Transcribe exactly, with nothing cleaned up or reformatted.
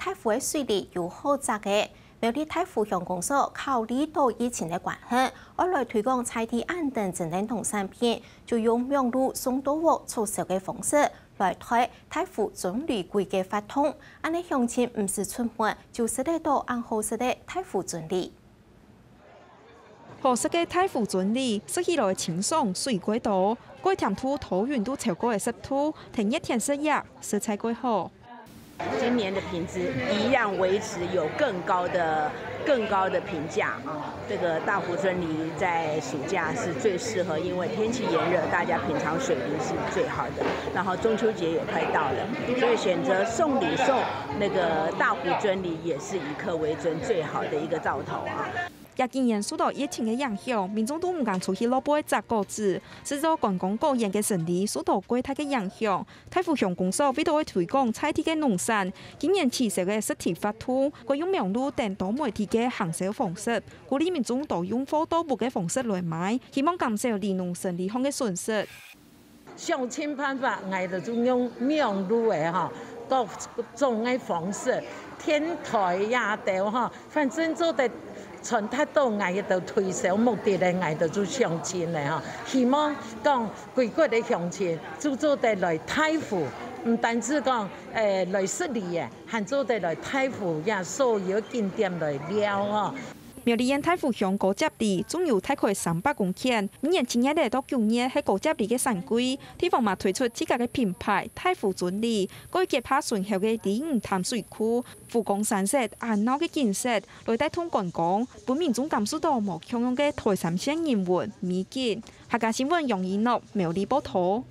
大湖个水利有好隻个，苗栗大湖鄉公所考慮到疫情个關係，愛來推廣在地恁等真正農產品，就用網路送到屋促銷个方式，來推大湖尊梨季个活動。恁呢鄉親毋使出門，就食得到恁好食个大湖尊梨。 好食个大湖尊梨，食起來清爽，水蓋多，蓋甜度、糖分都超高个食度，天熱天食啊，實在蓋好。今年的品質一樣維持有更高的、更高的评价啊。这个大湖尊梨在暑假是最适合，因为天气炎热，大家品尝水梨是最好的。然后中秋节也快到了，所以选择送礼送那个大湖尊梨也是以客为尊最好的一个兆头啊。 也今年受到疫情个影響，民眾都毋敢出去落背摘果子，製造觀光果園个生理受到蓋大个影響。大湖鄉公所為著愛推廣在地个農產，今年取消个實體活動，改用網路等多媒體个行銷方式，鼓勵民眾多用貨到屋个方式來買，希望減少梨農生理項个損失。 想盡辦法，𠊎兜就用網路个吼，各種个方式，電台也兜吼，反正做得傳達到𠊎兜推銷目的个，𠊎兜就想盡个吼。希望講歸國个鄉親就做得來大湖，毋單止講誒來食梨个，還做得來大湖也所有景點來尞吼。 苗栗縣大湖鄉高接梨種有大概三百公頃，明年七月仔到九月係高接梨个產季，地方嘛推出自家个品牌大湖尊梨，過結合醇厚个梨園淡水區，湖光山色、恁鬧个景色，來帶動觀光，分民眾感受到無共樣个台三線人文美景。客家新聞楊一諾苗栗報導。